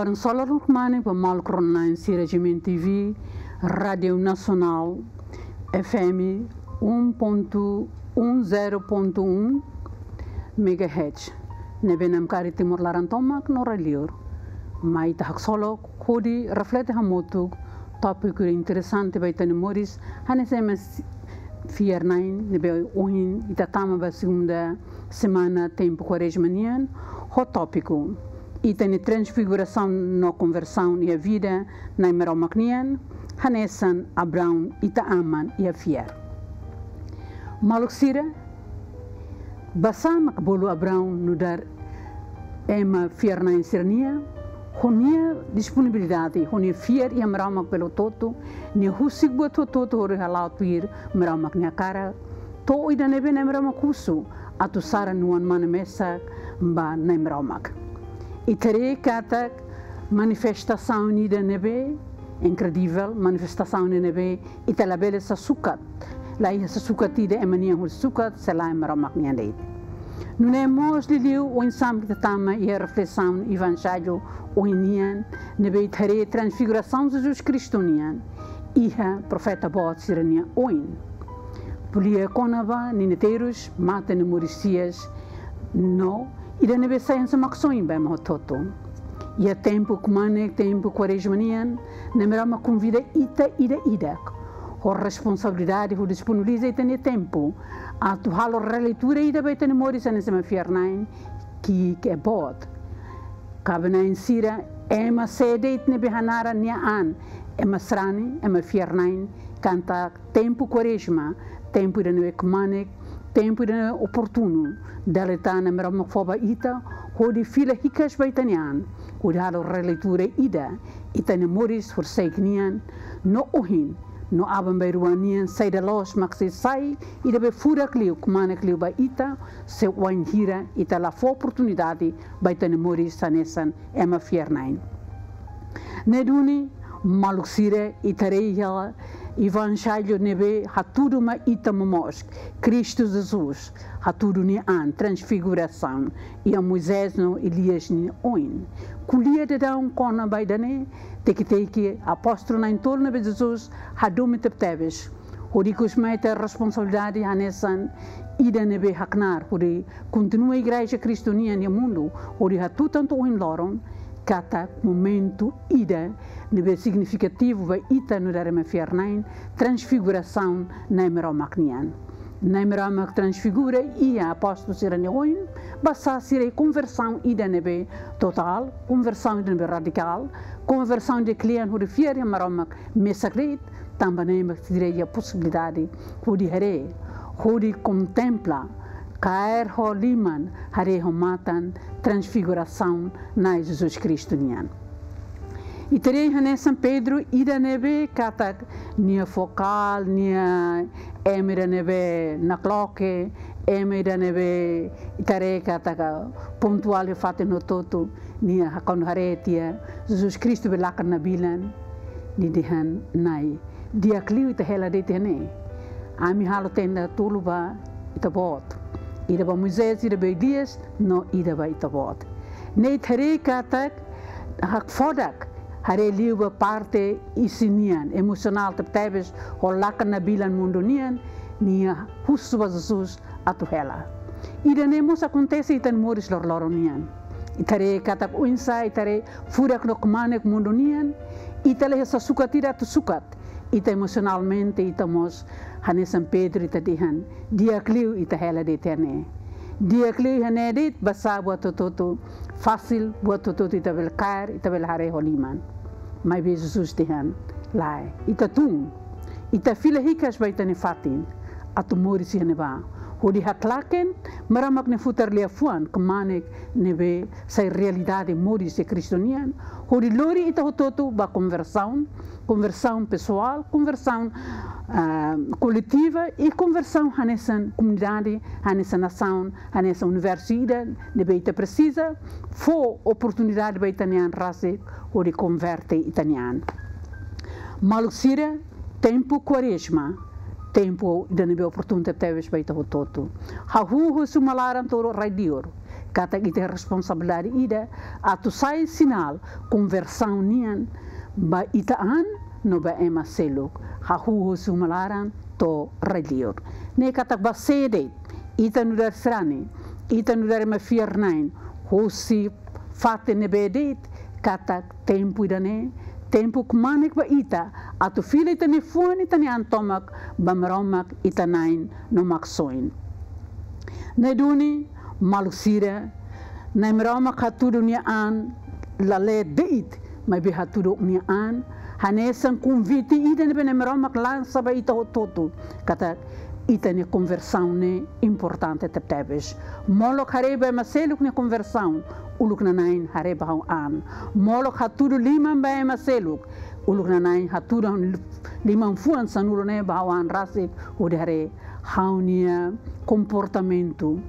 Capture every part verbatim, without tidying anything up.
Loron solor kmanek ba maluk rona-na'in sira G M N T V, Rádiu Nasionál, F M um ponto um zero ponto um megahertz. Ne'ebé namkari Timor laran tomak no rai-liur. Mai ita haksolok hodi reflete hamutuk tópiku interesante ba ita-nia moris, hanesan ema fiar-na'in, ne'ebé ohin ita tama ba segunda semana tempu Kuarezma nian, ho tópiku: Ita-nia transfigurasaun no konversaun iha vida Na'i Maromak nian, hanesan Abraão, ita aman iha fiar. Maluk sira, basá mak bolu Abraão nu'udar ema fiar-na'in sira-nian, ho nia disponibilidade, ho nia fiar iha Maromak bele hotu-hotu, nia husik buat hotu-hotu hodi hala'o tuir Maromak nia hakarak, to'o ida ne'ebé Na'i Maromak husu atu saran nia oan-mane mesak ba Na'i Maromak. Ita haree katak manifestasaun ida ne'ebé inkredivel, manifestasaun ida ne'ebé ita labele sasukat, la iha sasukat ida ema nian hodi sukat, se lae Maromak nian de'it. Nune'e mós liuliu oinsá mak ita tama iha reflesaun Evanjellu ohin nian, ne'ebé ita haree transfigurasaun Jesus Kristu nian iha profeta boot sira-nia oin. Ko'alia kona-ba ninia terus, mate no moris hi'as, no ida ne'ebé sai hanesan maksoin ba ema hotu-hotu. Iha tempu kmanek, tempu Kuarezma nian, Na'i Maromak konvida ita ida-idak ho responsabilidade hodi disponibiliza ita-nia tempu atu halo releitura ida ba ita-nia moris hanesan ema fiar-na'in, ki'ik ka boot. Kaben-na'in sira, ema sé de'it ne'ebé hanaran nia an ema sarani, ema fiar-na'in, katak tempu Kuarezma, tempu ida ne'ebé kmanek, tempu ida ne'ebé oportunu, dala ida tan Na'i Maromak fó ba ita, hodi fila hikas ba ita-nia an, hodi halo releitura ida ita-nia moris horisehik nian, no ohin, no aban-bainrua nian, saida loos mak sei sai ida be furak liu, kmanek liu ba ita, se wainhira ita la fó oportunidade ba ita-nia moris hanesan ema fiar-na'in. Ne'e duni, maluk sira, ita haree iha Evanjellu ne'ebé hatudu mai ita momoos, Kristu Jesus hatudu nia an, transfigurasaun, iha Moisés no Elias nia oin. Ko'alia daudaun kona-ba ida-ne'e, teke-teke apóstolu na'in-tolu ne'ebé Jesus hadomi tebetebes, hodi ikus mai ita responsabilidade hanesan ida ne'ebé haknar, hodi kontinua Igreja Kristu nian iha mundu, hodi hatutan to'o ohin loron, katak momentu ida ne'ebé signifikativu ba ita nu'udar ema fiar-na'in, transfigurasaun Na'i Maromak nian. Na'i Maromak transfigura iha apóstolu sira-nia oin, basá sira iha konversaun ida ne'ebé totál, konversaun ida ne'ebé radikál, konversaun ida kle'an hodi fiar iha Maromak mesak de'it, tanba ne'e mak sira iha posibilidade hodi haree, hodi kontempla, kaer ho liman, haree ho matan, transfigurasaun Na'i Jesus Kristu nian. Ita haree hanesan Pedro, ida ne'ebé katak nia fokál, nia ema ida ne'ebé nakloke, ema ida ne'ebé ita haree katak pontuál iha fatin hotu-hotu, nia kuandu haree tiha Jesus Kristu be lakan nabilan, nia dehan: Na'i, di'ak liu ita hela de'it iha ne'e. Ami halo tenda tolu ba ita-boot. Ida ba Moisés, ida ba Elias, no ida ba ita-boot. Ne'e ita haree katak hakfodak, haree liu ba parte isin nian, emosionál tebetebes, ho lakan nabilan mundu nian, nia husu ba Jesus atu hela. Ida-ne'e mós akontese iha ita-nia moris loroloron nian. Ita haree katak oinsá, ita haree furak no kmanek mundu nian, ita la iha sasukat ida atu sukat, ita emosionalmente, ita mós hanesan Pedro, ita dehan: Di'ak liu ita hela de'it iha ne'e. Di'ak liu iha ne'e de'it, basá buat hotu-hotu fasil, buat hotu-hotu ita bele kaer, ita bele haree ho liman. Maibé Jesus dehan: Lae, ita tun, ita fila hikas ba ita-nia fatin atu moris iha ne'ebá, hodi haklaken Maromak nia futar liafuan kmanek ne'ebé sai realidade moris iha Kristu nian, hodi lori ita hotu-hotu ba konversaun, konversaun pesoál, konversaun, ah, koletiva, i konversaun hanesan komunidade, hanesan nasaun, hanesan universu ida ne'ebé ita presiza fó oportunidade ba ita-nia an rasik hodi konverte ita-nia an. Maluk sira, tempu Kuarezma, tempu ida ne'ebé oportun tebetebes ba ita hotu-hotu. Hahú husi uma laran to'o rai-liur, katak ita responsabilidade ida atu sai sinál konversaun nian ba ita an no ba ema seluk, hahú husi uma laran to'o rai-liur. Ne'e katak ba sé de'it, ita nu'udar sarani, ita nu'udar ema fiar-na'in, husi fatin ne'ebé de'it, katak tempu ida-ne'e tempu kmanek ba ita atu fila ita-nia fuan, ita-nia an tomak ba Maromak ita Na'i no Maksoin. Ne'e duni, maluk sira, Na'i Maromak hatudu nia an, la lee de'it, maibé hatudu nia an hanesan konvite ida ne'ebé Na'i Maromak lansa ba ita hotu-hotu, katak ita-nia konversaun ne'e importante tebetebes. Molok haree ba ema seluk nia konversaun, uluk nanain haree ba ha'u-nia an. Molok hatudu liman ba ema seluk, uluk nanain hatudu liman fuan sanulu ne'e ba ha'u-nia an rasik, hodi haree ha'u-nia komportamentu,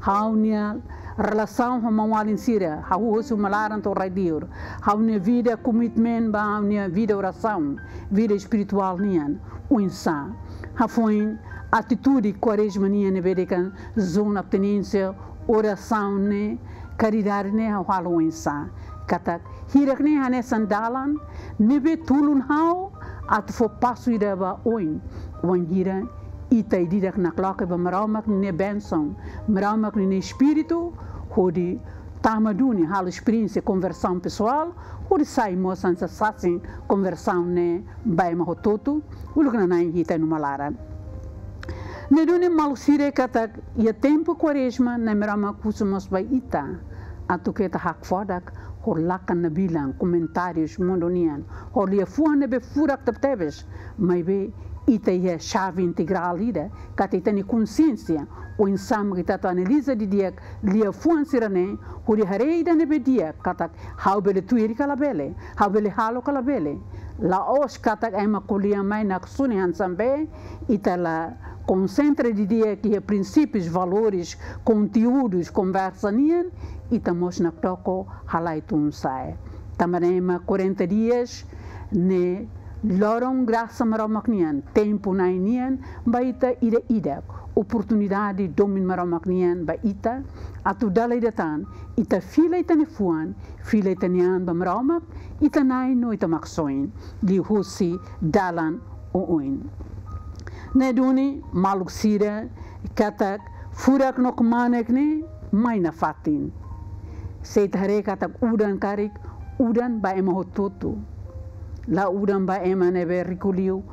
ha'u-nia relasaun ho maun-alin sira, hahú husi uma laran to'o rai-liur, ha'u-nia vida komitmen ba ha'u-nia vida orasaun, vida espirituál nian oinsá. Hafoin atitude Kuarezma nian ne'ebé dehan jejún, abstinénsia, orasaun ne'e, karidade ne'e ha'u halo oinsá. Katak hirak ne'e hanesan dalan ne'ebé tulun ha'u atu fó pasu ida ba oin. Wainhira ita ida-idak nakloke ba Maromak nia bensaun, Maromak nia Espíritu, hodi tama duni halo esperiénsia konversaun pesoál, hodi sai mós hanesan sasin konversaun ne'e ba ema hotu-hotu, uluk nanain iha ita-nia uma laran. Ne'e duni maluk sira, katak iha tempu Kuarezma, Na'i Maromak husu mós ba ita atu keta hakfodak ho lakan nabilan, komentárius mundu nian, ho liafuan ne'ebé furak tebetebes, maibé ita iha xave integrál ida, katak ita-nia konsiénsia, oinsá mak ita atu analiza didi'ak liafuan sira-ne'e, hodi haree ida ne'ebé di'ak, katak ha'u bele tuir ka labele, ha'u bele halo ka labele. La'ós katak ema ko'alia mai naksoin hanesan be, ita la konsentra didi'ak iha prinsípius, valores, konteúdus, konversa nian, ita mós nakdoko halai tun sa'e. Tanba ne'e mak quarenta dias ne'e loron grasa Maromak nian, tempu Na'i nian ba ita ida-idak, oportunidade domin Maromak nian ba ita, atu dala ida tan ita fila ita-nia fuan, fila ita-nia an ba Maromak ita Na'i no ita Maksoin, liuhusi dalan oioin. Ne'e duni maluk sira, katak furak no kmanek ne'e mai nafatin. Se ita haree katak udan karik, udan ba ema hotu-hotu. La udan ba ema ne'ebé riku liu,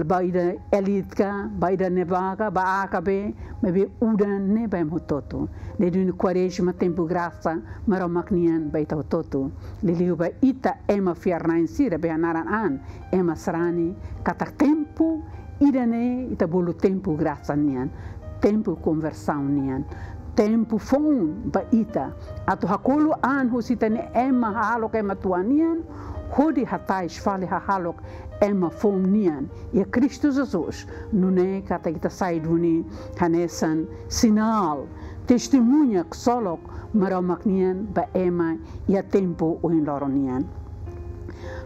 ba ida elite ka, ba ida ne'ebá ka, ba A ka B, maibé udan ne'e ba ema hotu-hotu. Ne'e duni Kuarezma tempu grasa Maromak nian ba ita hotu-hotu. Liuliu ba ita ema fiar-na'in sira, be hanaran an, ema sarani, katak tempu ida-ne'e ita bolu tempu grasa nian, tempu konversaun nian, tempu foun ba ita atu hakolo an husi ita-nia ema hahalok, ema tuan nian, hodi hatais fali hahalok ema foun nian iha Kristu Jesus. Nune'e katak ita sai duni hanesan sinál, testemuña ksolok Maromak nian ba ema iha tempu ohin loron nian.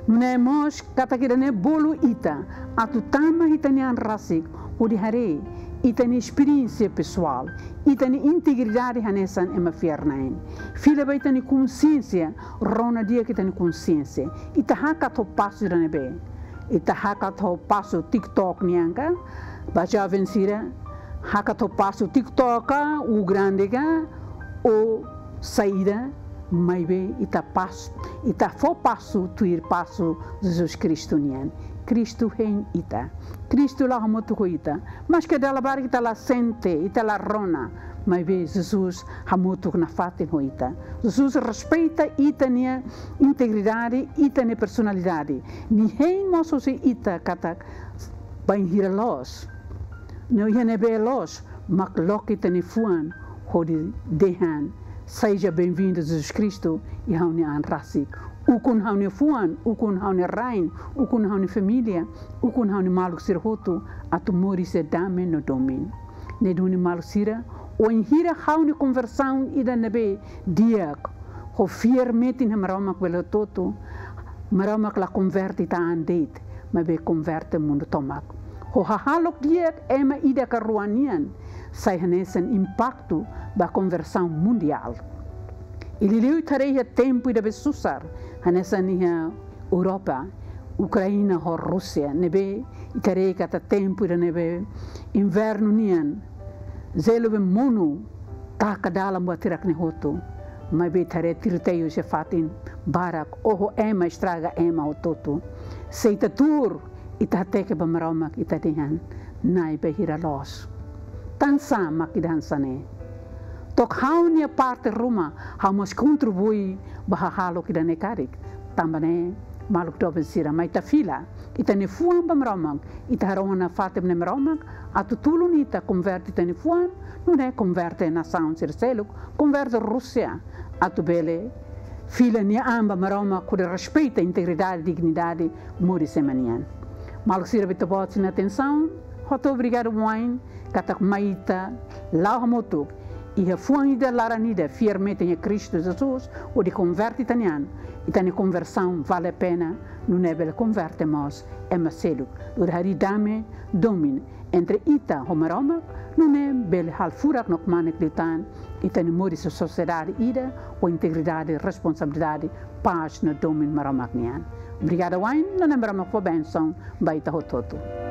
Nune'e mós katak ida-ne'e bolu ita atu tama ita-nia an rasik, hodi haree ita-nia esperiénsia pesoál, ita-nia integridade hanesan ema fiar-na'in. Fila ba ita-nia konsiénsia, rona di'ak ita-nia konsiénsia. Ita hakat ho pasu ida ne'ebé? Ita hakat ho pasu TikTok nian ka? Ba joven sira, hakat ho pasu TikTok ka, ou grande ka, ou saida, maibé ita pas-, ita fó pasu tuir pasu Jesus Kristu nian. Kristu hein ita. Kristu la'o hamutuk ho ita. Maske dala barak ita la sente, ita la rona, maibé Jesus hamutuk nafatin ho ita. Jesus respeita ita-nia integridade, ita-nia personalidade. Nia hein mós husi ita katak bainhira loos, no iha ne'ebé loos, mak loke ita-nia fuan hodi dehan: "Seja bem-vindo, Jesus Cristo, iha ha'u-nia an rasik. Ukun ha'u-nia fuan, ukun ha'u-nia rain, ukun ha'u-nia família, ukun ha'u-nia maluk sira hotu, atu moris iha dame no domin." Ne'e duni maluk sira, wainhira ha'u-nia konversaun ida ne'ebé di'ak, ho fiar metin iha Maromak bele hotu-hotu, Maromak la konverte ita an de'it, maibé konverte mundu tomak. Ho hahalok di'ak ema ida ka rua nian, sai hanesan impaktu ba konversaun mundiál. I liuliu ita haree iha tempu ida be susar, hanesan iha Europa, Ukraina ho Rúsia, ne'ebé ita haree katak tempu ida ne'ebé invernu nian, jelu be monu taka dalan buat hirak-ne'e hotu. Maibé ita haree tiroteiu iha fatin barak, oho ema, estraga ema hotu-hotu. Se ita tuur, ita hateke ba Maromak, ita dehan: Na'i, bainhira loos, tansá mak ida hanesan ne'e? To'o ha'u-nia parte ruma, ha'u mós kontribui ba hahalok ida-ne'e karik. Tanba ne'e, maluk doben sira, mai ita fila ita-nia fuan ba Maromak, ita harohan nafatin ba Maromak atu tulun ita konverte ita-nia fuan, nune'e konverte nasaun sira seluk, konverte Rúsia, atu bele fila nia an ba Maromak, hodi respeita integridade, dignidade moris ema nian. Maluk sira, ba ita-boot sira-nia atensaun, hotu obrigadu wa'in, katak mai ita la'o hamutuk iha fuan ida, laran ida, fiar-metin iha Kristu Jesus, hodi konverte ita-nia an, ita-nia konversaun vale pena, nune'e bele konverte mós ema seluk, hodi harii dame, domin entre ita ho Maromak, nune'e bele halo furak no kmanek liután ita-nia moris iha sosiedade ida ho integridade, responsabilidade, pás no domin Maromak nian. Obrigadu wa'in, no Na'i Maromak fó bensaun ba ita hotu-hotu.